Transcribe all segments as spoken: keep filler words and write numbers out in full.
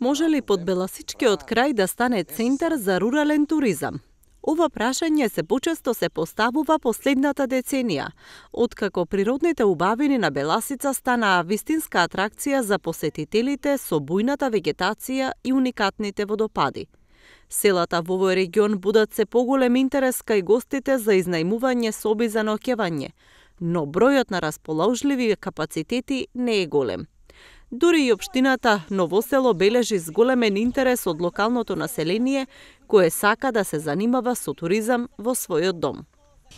Може ли Подбеласичкиот крај да стане центар за рурален туризам? Ова прашање се почесто се поставува последната деценија, откако природните убавини на Беласица станаа вистинска атракција за посетителите со бујната вегетација и уникатните водопади. Селата во овој регион будат се поголем интерес кај гостите за изнајмување соби за ноќевање, но бројот на расположливи капацитети не е голем. Дури и општината Ново село бележи зголемен интерес од локалното население, кое сака да се занимава со туризам во својот дом.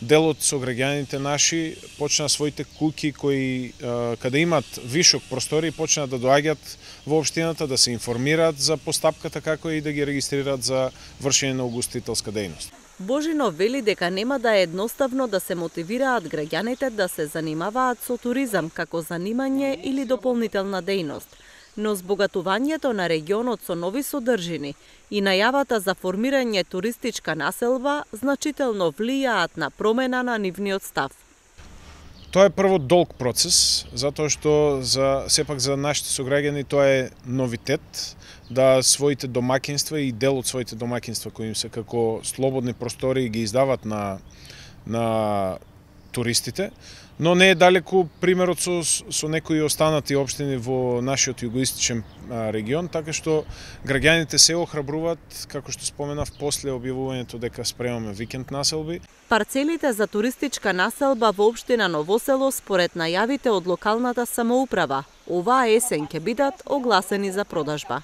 Дел од сограѓаните наши почна своите куќи кои каде имат вишок простори почна да доаѓаат во општината да се информираат за постапката како и да ги регистрираат за вршење на угостителска дејност. Божино вели дека нема да е едноставно да се мотивираат граѓаните да се занимаваат со туризам како занимање или дополнителна дејност, но збогатувањето на регионот со нови содржини и најавата за формирање туристичка населба значително влијаат на промена на нивниот став. Тоа е прво долг процес, затоа што за сепак за нашите сограѓани тоа е новитет, да своите домакинства и дел од своите домакинства кои им се како слободни простори ги издават на на туристите, но не е далеку примерот со со некои останати општини во нашиот југоисточен регион, така што граѓаните се охрабруваат, како што споменав после објавувањето дека спремаме викенд населби. Парцелите за туристичка населба во општина Ново село според најавите од локалната самоуправа оваа есен ќе бидат огласени за продажба.